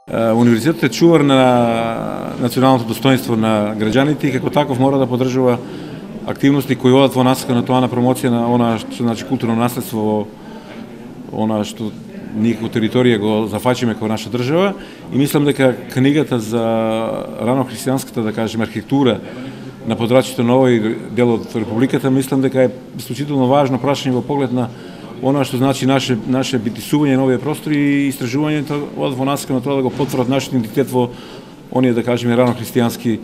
Универзитетот е чувар на националното достоинство на граѓаните и како таков мора да поддржува активности кои одат во насока на тоа на промоција на она што значи културно наследство, она што ние како територија го зафачиме како наша држава, и мислам дека книгата за рано христијанската, да кажеме, архитектура на подрачјето на овој дел од републиката, мислам дека е исклучително важно прашање во поглед на она што значи наше битисување на овие простори и истражувањето од во насока на тоа да го потврдат нашиот идентитет во оние, да кажеме, рано христијански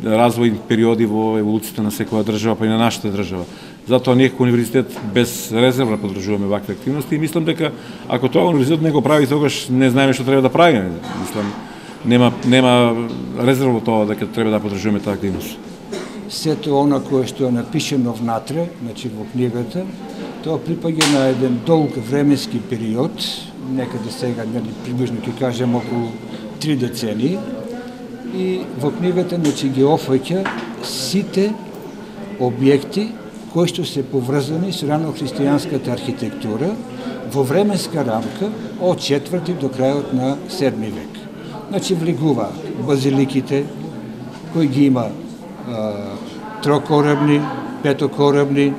развој периоди во еволуцијата на секоја држава, па и на нашата држава. Затоа ние како универзитет без резерва поддржуваме вакви активности и мислам дека ако тоа универзитет не го прави, тогаш не знаеме што треба да правиме. Мислам нема резерва во тоа дека треба да поддржуваме таа активност. Сето она кое што е напишено внатре, значи во книгата, тоа припаѓа на еден долг временски период, некаде сега, приближно ќе кажем околу 3 децении, и во книгата значи ги опфаќа сите објекти кои што се поврзани со рано христијанската архитектура во временска рамка од 4 до крајот на 7 век. Значи влегува базиликите кои ги има трокорабни, петокорабни,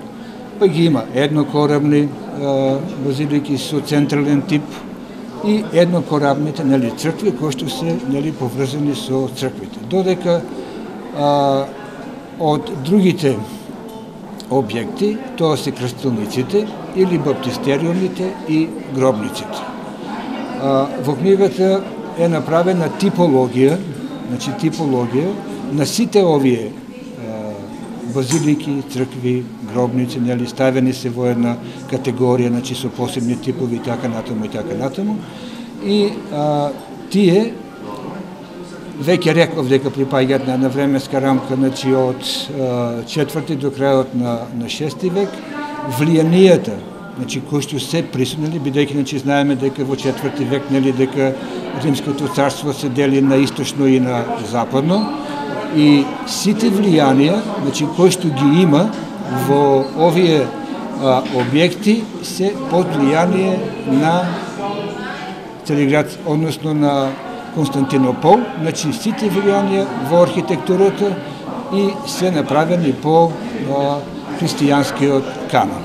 па ги има еднокорабни базилики со централен тип и еднокорабните цркви кои што се поврзани со црквите. Додека од другите објекти тоа се крстилниците или баптистериумите и гробниците. Во книгата е направена типологија, значи типологија на сите овие базилики, цркви, гробници, ставени се во една категорија, значи со посебни типови и така натаму и така натаму. И тие веќе реков дека припаѓаат на временска рамка, значи од 4 до крајот на 6 век. Влијанијата, значи кои што се присутни, бидејќи значи знаеме дека во 4 век дека Римското царство се дели на источно и на западно. И сите влијанија, значи кои што ги има во овие објекти се под влијание на Цариград, односно на Константинопол, значи сите влијанија во архитектурата и се направени по христијанскиот канон.